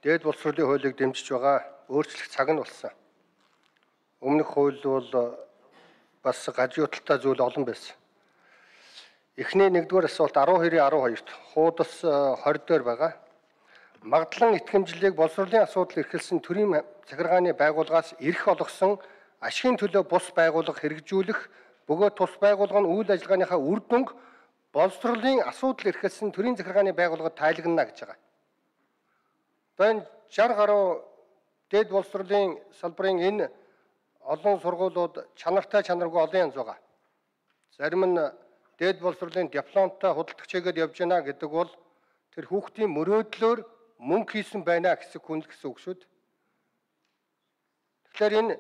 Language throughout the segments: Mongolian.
дээд боловсролын хуулийг дэмжиж байгаа өөрчлөх цаг нь болсон. Өмнөх хууль бол бас гажуудалтай зүйл олон байсан. Эхний 1-р асуулт 12-12-т хуудас 20 дээр байгаа. Магадлан итгэмжлэлийг боловсролын асуудал эрхэлсэн төрийн захиргааны байгууллагаас эрх олгосон ашигын төлөө бус байгууллага хэрэгжүүлэх бөгөөд тус байгууллага нь үйл ажиллагааныхаа үр дүнг боловсролын асуудал эрхэлсэн төрийн захиргааны байгууллагад тайлагна гэж байгаа. Энэ 60 гаруй дээд боловсролын салбарын энэ олон сургуулиуд чанаргүй олон янз байгаа. Зарим нь дээд боловсролын дипломтой худалдагч хийгээд явж байна гэдэг бол тэр хүүхдийн мөрөөдлөөр мөнгө хийсэн байна гэсэн хүн гэсэн үг шүү дээ. Тэгэхээр энэ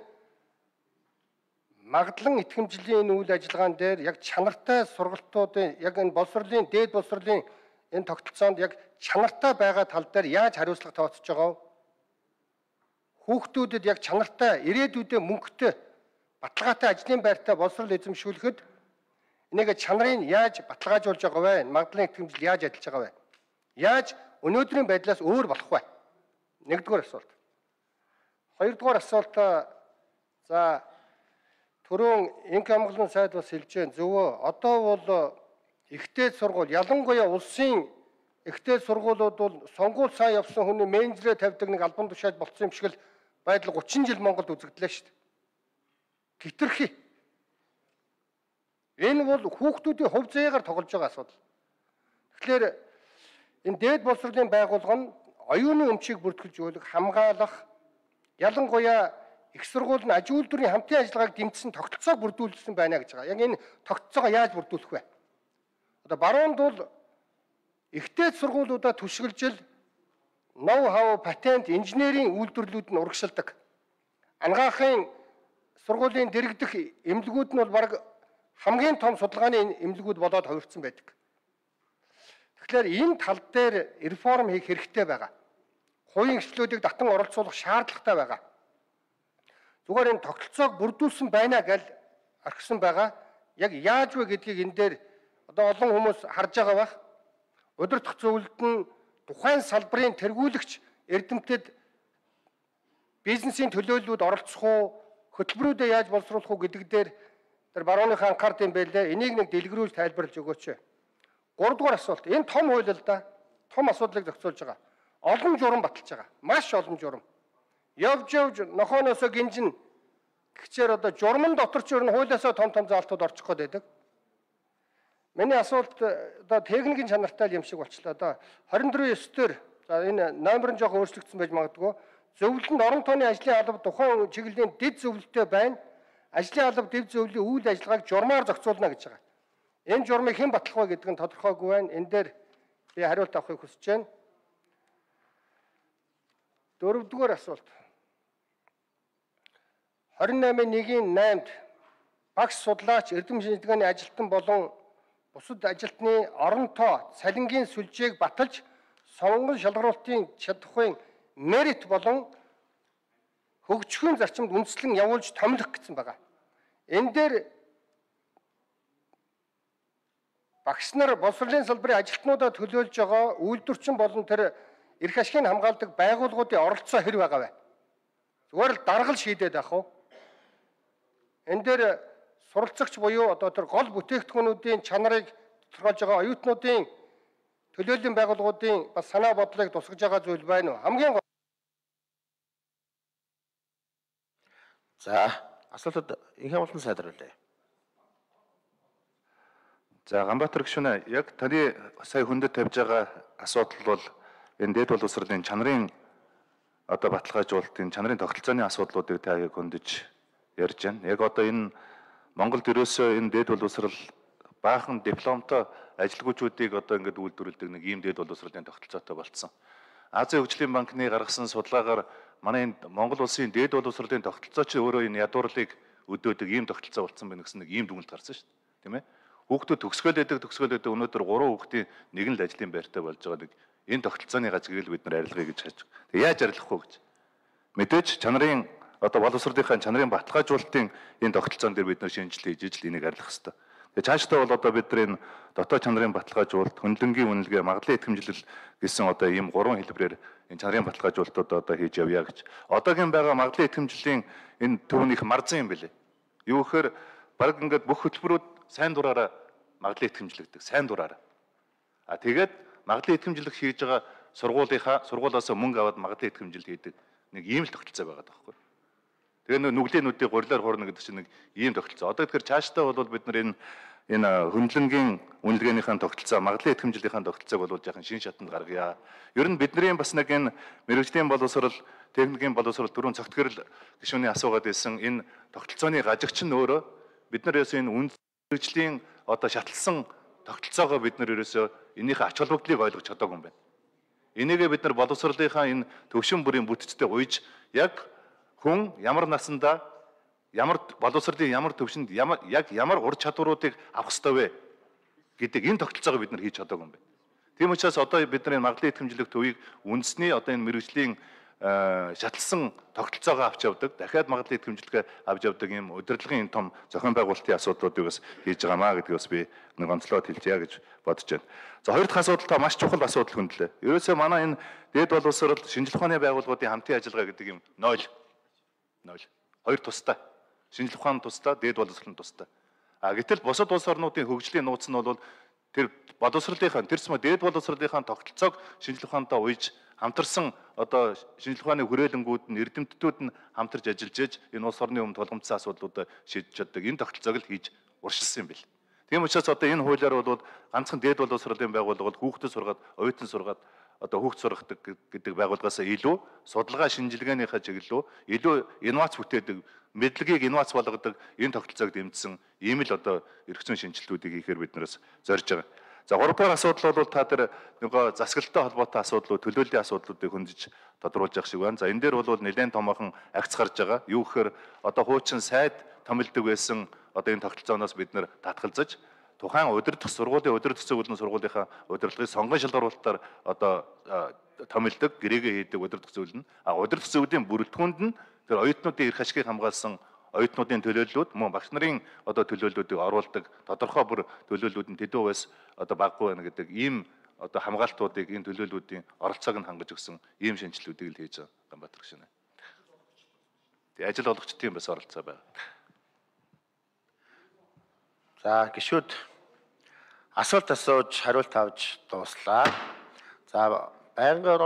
магадлан итгэмжлэлийн энэ үйл ажиллагаан дээр яг чанартай сургалтуудын яг энэ боловсролын дээд боловсролын энэ тогтолцоонд яг чанартай байгаа тал дээр яаж хариуцлага тооцож байгаа вэ? Хүүхдүүдэд яг чанартай ирээдүйдээ мөнгөтэй баталгаатай ажлын байртай боловсрол эзэмшүүлэхэд энийг чанарыг яаж баталгаажуулж байгаа вэ? Магадлан итгэмжил яаж ажиллаж байгаа вэ? Яаж өнөөдрийн байдлаас өөр болох вэ? 1-р асуулт. 2-р асуулт за түрүүн инк хамгааллын сайд бас хэлж байна. Зөвөө одоо бол ихтэй сургууль ялангуяа улсын ихтэй сургуулиуд бол сонгуул сайн явсан хүний менежерээ тавьдаг нэг албан тушаал болцсон юм шиг л байдал 30 жил Монголд үзэгдлээ шүү дээ. Хитрхи. Энэ бол хүүхдүүдийн хувь заяагаар тоглож байгаа асуудал. Тэгэхээр энэ дээд боловсролын байгууллага нь оюуны өмчийг бүртгүүлж хамгаалах ялангуяа их сургууль нь аж үйлдвэрийн хамтын ажиллагааг дэмжсэн тогтолцоог бүрдүүлсэн байна гэж байгаа. Яг энэ тогтолцоогоо яаж бүрдүүлэх вэ? Одоо баруунд бол ихтэй сургуулиудаа түшиглжил ноу-хау, патент, инженерийн үйлдвэрлэлүүд нь урагшилдаг. Ангаахын сургуулийн дэргэдэх эмнэлгүүд нь бол баг хамгийн том судалгааны эмнэлгүүд болоод хувирсан байдаг. Тэгэхээр энэ тал дээр реформ хийх хэрэгтэй байгаа. Хувийн эрхчлүүдийг татан оролцуулах шаардлагатай байгаа. Зүгээр энэ тогтолцоог бүрдүүлсэн байна гэж архисан байгаа. Яг яаж вэ гэдгийг энэ дээр одоо олон хүмүүс харж байгаа байх. Удирдах зөвлөлд нь тухайн салбарын тэргүүлэгч эрдэмтэд бизнесийн төлөөллүүд оролцох уу, хөтөлбөрүүдэд яаж боловсруулах уу гэдэг дээр тэр барууныхаа анхаард юм байлээ. Энийг нэг дэлгэрүүлж тайлбарлаж өгөөч. 3-р асуулт. Энэ том хууль л да. Том асуудлыг зохицуулж байгаа. Олон журам баталж байгаа. Маш олон журам. Явж нохооноосоо гинжин гэхчээр одоо журмын дотор ч ер нь хуулиасаа том заалтууд орчих гээд байдаг. Миний асуулт одоо техникийн чанартай юм шиг болчлаа. Одоо 24/9-дөр за энэ номер нь жоохон өөрчлөгдсөн байж магадгүй. Зөвлөлд орон тооны ажлын алба тухайн чиглэлийн дэд зөвлөлттэй байна. Ажлын алба дэд зөвлөлийн үйл ажиллагааг журмаар зохицуулна гэж байгаа. Энэ журмыг хэн батлах вэ гэдэг нь тодорхойгүй байна. Энэ дээр би хариулт авахыг хүсэж байна. 4-р асуулт. 28/1-8-д багш судлаач эрдэм шинжилгээний ажилтан болон бусад ажилтны оронтоо цалингийн сүлжээг баталж сонгон шалгаруулалтын чадахын мерит болон хөгжихийн зарчимд үндэслэн явуулж томилох гэсэн байгаа. Энэ дээр багш нар боловсролын салбарын ажилтнуудаа төлөөлж байгаа үйлдвэрчин болон тэр эрх ашигыг хамгаалдаг байгууллагуудын оролцоо хэр байгаа вэ? Зүгээр л даргал шийдээд авах уу? Энэ дээр суралцагч буюу одоо тэр гол бүтээгдэхүүнүүдийн чанарыг тодорхойлж байгаа оюутнуудын төлөөллийн байгууллагуудын бас санаа бодлыг тусгаж байгаа зүйл байна уу? Хамгийн за асуултад инх хамгаалалтын сайд хариулъя. За Ганбаатар гишүүнээ яг таны сая хүндэд тавьж байгаа асуудал бол энэ дээд боловсролын чанарын одоо баталгаажуулалтын чанарын тогтолцооны асуудлуудыг та яг хөндөж ярьж байна. Яг одоо энэ Монголд ерөөсөө энэ дээд боловсрол баахан дипломтой ажилгүйчүүдийг одоо ингээд үйлдвэрлэдэг нэг ийм дээд боловсролын тогтолцоотой болцсон. Азийн хөгжлийн банкны гаргасан судалгаагаар манай энэ Монгол улсын дээд боловсролын тогтолцоо чи өөрөө энэ ядуурлыг өдөөдөг ийм тогтолцоо болцсон байна гэсэн нэг ийм дүгнэлт гарсан шүү дээ. Тийм ээ? Хүүхдүүд төгсгөөлөдөг өнөөдөр 3 хүүхдийн нэг нь л ажлын байртай болж байгаа нэг энэ тогтолцооны гажгийг бид нар арилгая гэж хайж. Тэг яаж арилгах вэ гэж. Мэдээж чанарын одоо боловсролынхаа чанарын баталгаажуулалтын энэ тогтолцоон дээр бид нар шинжилгээ хийж ижил энийг арилгах хэрэгтэй. Тэгээ цаашдаа бол одоо бидний дотоод чанарын баталгаажуулалт, хөндлөнгийн үнэлгээ, магадлалын итгэмжлэл гэсэн одоо ийм 3 хэлбэрээр энэ чанарын баталгаажуулалтууд одоо хийж явъя гэж. Одоогийн байгаа магадлалын итгэмжлэлийн энэ төв нь их марзан юм билээ. Юу гэхээр баг ингээд бүх хөтөлбөрүүд сайн дураараа магадлалын итгэмжлэгдэг, сайн дураараа. Тэгээд магадлалын итгэмжлэх хийж байгаа сургуулиасаа мөнгө аваад магадлалын итгэмжлэл хийдэг нэг ийм л тогтолцоо байгаа байхгүй. Тэгээ нүглээнүүдийн гурилаар хуурна гэдэг чинь нэг ийм тогтолцоо. Одоо тэгэхээр цаашдаа бол бид нар энэ хөндлөнгийн үнэлгээнийхэн тогтолцоо, магадлалын итгэмжлэлийн тогтолцоог бол жаахан шин шатанд гаргая. Ер нь бидний бас нэг энэ мэрэгжлийн боловсрол, техникийн боловсрол дөрвөн цогт гэрэл гишүүний асуугаад байсан энэ тогтолцооны гажигч нь өөрөө бид нар ерөөсөө энэ үнэлгээнийн одоо шатлсан тогтолцоогоо бид нар ерөөсөө энийхээ ач холбогдлыг ойлгож чадаагүй юм байна. Энийгээ бид нар боловсролынхаа энэ төвшин бүрийн бүтцтэй уйж яг хүн ямар насандаа ямар боловсролын ямар төвшөнд ямар ур чадваруудыг авах ёстой вэ гэдэг энэ тогтолцоогоо бид нар хийж чадаагүй юм байна. Тийм учраас одоо бид нар энэ магадлалын итгэмжлэх төвийг үндэсний одоо энэ мэрэгжлийн шатлсан тогтолцоогоо авч явдаг, дахиад магадлалын итгэмжлэгээ авч явдаг юм удирдлагын том зохион байгуулалтын асуудлуудыг бас хийж байгаамаа гэдгийг бас би нэг онцлоод хэлчихье гэж бодож байна. За хоёр дахь асуудал та маш чухал асуудал хөндлөө. Ерөөсөө манай энэ дээд боловсрол шинжилгээ ухааны байгууллагуудын хамтын ажиллагаа гэдэг юм 0. Хоёр тустай. Шинжилгээ ухааны тустай, дээд боловсролын тустай. Гэтэл бусад улс орнуудын хөгжлийн нууц нь бол тэр боловсролынхаа дээд боловсролынхаа тогтолцоог шинжилгээ ухаантай уйж хамтарсан одоо шинжилгээ ухааны хүрээлэнгүүд нь эрдэмтдүүд нь хамтарч ажиллаж ээж энэ улс орны өмнө тулгамдсан асуудлуудаа шийдэж чаддаг энэ тогтолцоог л хийж уршилсан юм бэл. Тийм учраас одоо энэ хуулиар бол ганцхан дээд боловсролын байгууллага бол хүүхдэд сургаад, оюутан сургаад одоо хүүхд сургадаг гэдэг байгууллагаасаа илүү судалгаа шинжилгээнийхээ чиглэлөө илүү инновац бүтээдэг, мэдлэгийг инновац болгодог энэ тогтолцоог дэмжсэн ийм л одоо эрх зүйн шинжилтүүдийг хийхээр бид нараас зорж байгаа. За 3 дахь асуудал бол та тэр нөгөө засаглалтай холбоотой асуудлууд, төлөөллийн асуудлуудыг хөндөж тодруулж явах шиг байна. За энэ дээр бол нэлээд томоохон агц гарч байгаа. Юу гэхээр одоо хуучин сайд томилдог байсан одоо энэ тогтолцооноос бид нэр татгалзаж тухайн удирдах сургуулийн удирдах зөвлөлийн сургуулийнхаа удирдлагыг сонгон шалгаруулалтаар одоо томилдог, гэрээгээ хийдэг удирдах зөвлөл нь. Удирдах зөвлөлийн бүрэлдэхүүнд нь тэр оюутнуудын эрх ашигыг хамгаалсан оюутнуудын төлөөллүүд мөн багш нарын одоо төлөөллүүдийг оруулдаг тодорхой бүр төлөөллүүд нь тэдүү байс одоо баггүй байна гэдэг ийм одоо хамгаалтуудыг энэ төлөөллүүдийн оролцоог нь хангаж өгсөн ийм шинжилгэүүдийг л хийж байгаа Ганбаатар гишүүнээ. Тэгээ ажил олгочдын бас оролцоо байна. За гишүүд асуулт асууж хариулт авч дууслаа. За байнгын